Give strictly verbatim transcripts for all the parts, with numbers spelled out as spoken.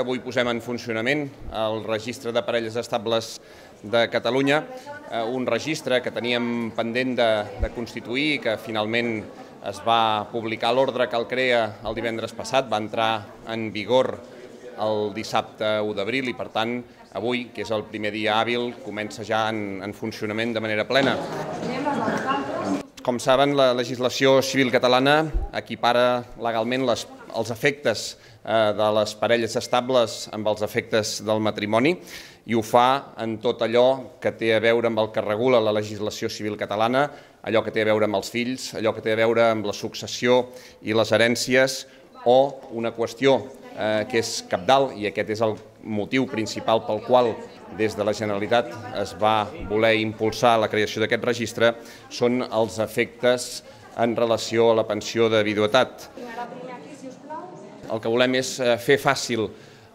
Avui posem en funcionament el registre de parelles estables de Catalunya, un registre que teníem pendent de, de constituir i que finalment es va publicar l'ordre que el crea el divendres passat, va entrar en vigor el dissabte u d'abril i, per tant, avui, que és el primer dia hàbil, comença ja en, en funcionament de manera plena. Com saben, la legislació civil catalana equipara legalment les, els efectes eh, de les parelles estables amb els efectes del matrimoni i ho fa en tot allò que té a veure amb el que regula la legislació civil catalana, allò que té a veure amb els fills, allò que té a veure amb la successió i les herències o una qüestió eh, que és cabdal, i aquest és el motiu principal pel qual des de la Generalitat es va voler impulsar la creació d'aquest registre, són els efectes en relació a la pensió de viduïtat. El que volem és fer fàcil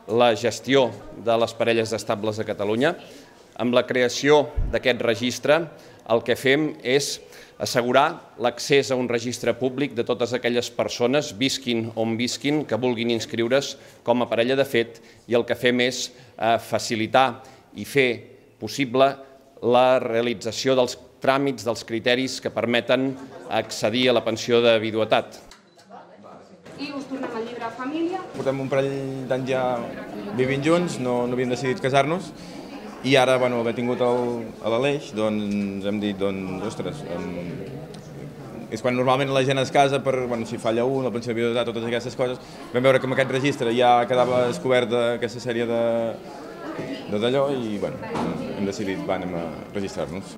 la gestió de les parelles estables a Catalunya. Amb la creació d'aquest registre el que fem és assegurar l'accés a un registre públic de totes aquelles persones, visquin on visquin, que vulguin inscriure's com a parella de fet, i el que fem és facilitar i fer possible la realització dels tràmits, dels criteris que permeten accedir a la pensió de viduïtat. I us tornem al llibre família. Portem un parell d'anys ja vivint junts, no, no havíem decidit casar-nos, i ara, bueno, haver tingut el, l'Aleix, doncs hem dit, doncs, ostres, um, és quan normalment la gent es casa per, bueno, si falla un, la pensió de viduïtat, totes aquestes coses. Vam veure que amb aquest registre ja quedava descoberta aquesta sèrie de, de d'allò i, bueno, hem decidit, va, anem a registrar-nos.